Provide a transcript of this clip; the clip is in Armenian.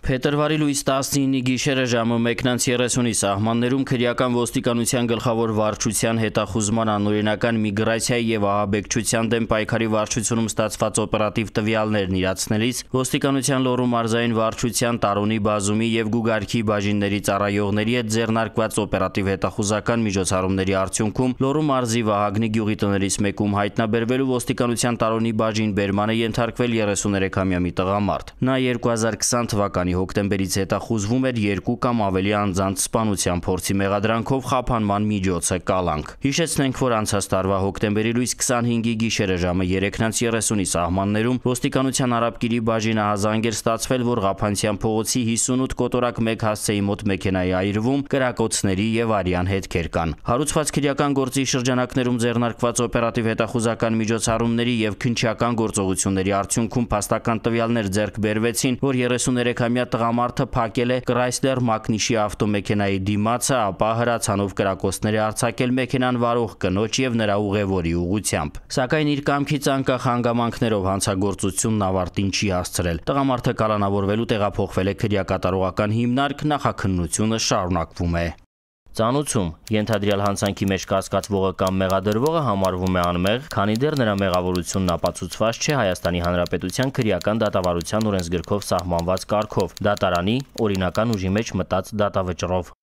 Փետրվարի լույս 19-ի գիշերը ժամը 1:30-ի սահմաններում քրեական ոստիկանության գլխավոր վարչության հետախուզման անօրինական միգրացիայի եւ ահաբեկչության դեմ պայքարի վարչությունում ստացված օպերատիվ տվյալներն իրացնելիս ոստիկանության Լոռու մարզային վարչության Տարոնի բազումի եւ Գուգարքի բաժինների ծառայողների հետ ձեռնարկված օպերատիվ հետախուզական միջոցառումների արդյունքում Լոռու մարզի Վահագնի գյուղի տներից մեկում հայտնաբերվելու ոստիկանության Տարոնի բաժին բերման է ենթարկվել 33-ամյա մի տղամարդ։ Նա 2020 թվականի հոկտեմբերից հետախուզվում էր 2 կամ ավելի անձանց սպանության փորձի մեղադրանքով խափանման միջոցը կալանք։ Հիշեցնենք, որ անցած տարվա հոկտեմբերի լույս 25-ի գիշերը ժամը 3:30-ի սահմաններում ոստիկանության Արաբկիրի բաժինը հազանգ էր ստացվել, որ Ղափանցյան փողոցի 58 կոտորակ 1 հասցեի մոտ մեքենայի այրվում կրակոցների եւ արյան հետքեր կան։ Հարուցված քրեական գործի շրջանակներում ձեռնարկված օպերատիվ հետախուզական միջոցառումների եւ քննչական գործողությունների արդյունքում փաստական տվյալներ ձեռք բերվեցին, որ 33-ամյա տղամարդը փակել է Chrysler Mach-Nishի ավտոմեքենայի դիմացը, ապա հրացանով կրակոցներ է արձակել մեքենան վարող կնոջ եւ նրա ուղևորի ուղղությամբ։ Սակայն իր կամքից անկախ հանգամանքներով հանցագործությունն ավարտին չի հասցրել։ Տղամարդը կալանավորվելու տեղափոխվել է քրեակատարողական հիմնարկ, նախաքննությունը շարունակվում է։ Ծանուցում ենթադրյալ հանցանքի մեջ կասկածվողը կամ մեղադրվողը համարվում է անմեղ, քանի դեռ նրա մեղավորությունն ապացուցված չէ Հայաստանի Հանրապետության քրեական դատավարության օրենսգրքով սահմանված կարգով՝ դատարանի օրինական ուժի մեջ մտած դատավճռով։